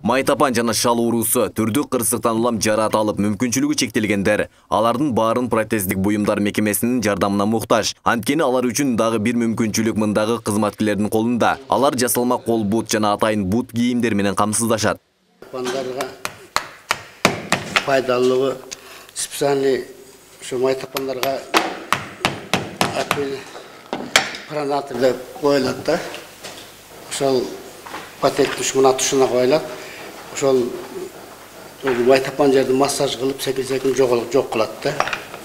Майтапан жана шал уруусу түрдүү кырсыктан улам жараат алып мүмкүнчүлүгү чектелгендер. Алардын баарын протездик буюмдар мекемесинин жардамына муктаж. Анткени алар үчүн дагы бир мүмкүнчүлүк мындагы кызматкерлердин колунда. Алар жасалма кол бут жана атайын бут кийимдер менен камсыздашат. Майтапандарга пайдалуулугу специальный ушу майтапандарга пронатор деп коюлат да. Ошол патент мына тушуна коюлат. Ошол майтапан жерди массаж кылып секин жок кылат да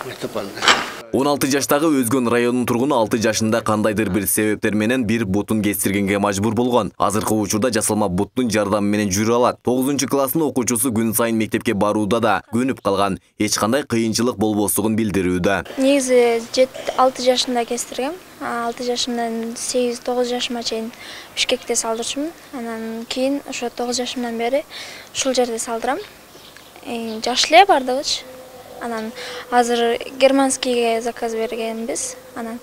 майтапанды. 16 жаштагы Өзгөн районунун тургуну 6 жашында кандайдыр бир себептер менен бир бутун кестиргенге мажбур болгон. Азыркы учурда жасалма буттун жардамы менен жүрө алат. 9-класстын окуучусу күн сайын мектепке барууда да көнүп калган. Эч кандай кыйынчылык болбосугун билдирүүдө. Негизи 6 жашында кестиргем. 6 жашымдан 8-9 жашыма чейин Бишкекте салдырчумун. Анан кийин ошо 9 жашымдан бери ушул жерде салдырам. Жаш эле бардыгычы. Анан азыр германскийге заказ бергенбиз. Анан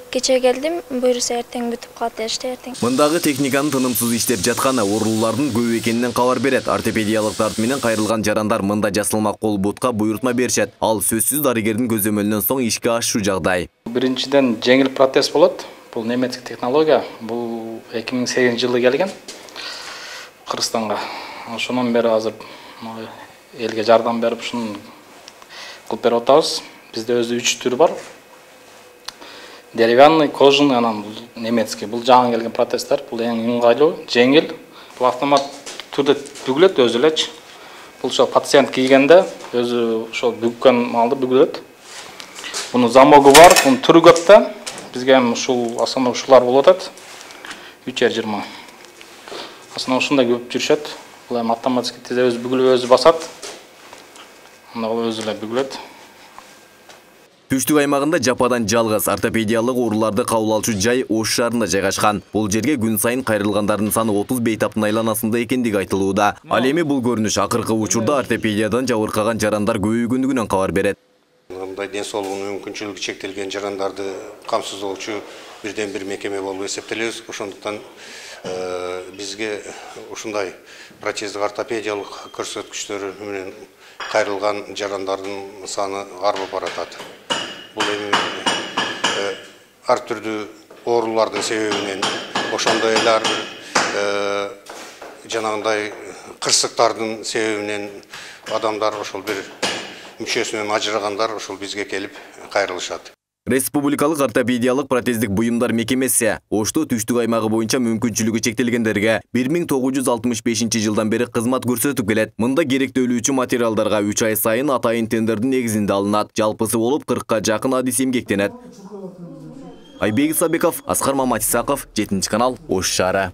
кече келдим, буюрса эртең бүтүп калат дешти, эртең. Мындагы техниканын тынымсыз иштеп жатканы оорулардын көп экенинен кабар берет. Ортопедиялыктар менен кайрылган жарандар мында жасалма кол бутка буйрутма беришет. Ал сөзсүз дарыгердин көзөмөлүнөн соң ишке ашуу жагдай. Биринчиден жеңил протез болот. Бул немецк технология. Бул 2008-жылы келген Кыргызстанга. Ошонун бери азыр элге жардам берип ушуну кылып берип атабыз. Бизде өзү 3 түрү бар. Деревянный, кожаный, анан немецкий. Бул жаңы келген протезтер. Бул эң ыңгайлуу, жеңил. Бул автомат түрдө бүгүлөт өзү элечи. Бул ошо пациент кийгенде өзү ошол бүгкөн маалда бүгүлөт. Бунун замогу бар, бунун түрү көп да. Бизге ушул асана ушулар болуп атат. 3,20. Асана ушундай көп жүрүшөт. Бул эми автоматически тизе өзү бүгүлүп өзү басат. Өзү эле бүгүлөт. Түштүк аймагында жападан жалгыз ортопедиялык ооруларды кабыл алчу жай Ош шаарында жайгашкан. Бул жерге күн сайын кайрылгандардын саны 30 бейтаптын айланасында экендиги айтылууда. Ал эми бул көрүнүш акыркы учурда ортопедиядан жабыркаган жарандар көбөйгөндүгүнөн кабар берет. Мындай ден соолугунун мүмкүнчүлүгү чектелген жарандарды камсыздоочу бирден бир мекеме болуп эсептелебиз. Ошондуктан бизге ушундай протездик ортопедиялык көрсөткүчтөрү менен кайрылган жарандардын саны арбып баратат. Бул эми ар түрдүү оорулардын себебинен, ошондой эле ар бир жанагындай кырсыктардын себебинен адамдар ошол бир мүчөсүнөн ажырагандар ошол бизге келип кайрылышат. Республикалык ортопедиялык протездик буюмдар мекемеси Ошто түштүк аймагы боюнча мүмкүнчүлүгү чектелгендерге 1965-жылдан бери кызмат көрсөтүп келет. Мында керектөлүүчү материалдарга 3 ай сайын атайын тендердин негизинде алынат. Жалпысы болуп 40ка жакын адис эмгектенет. Айбек Исабеков, Аскар Маматисаков, 7 канал, Ош шаары.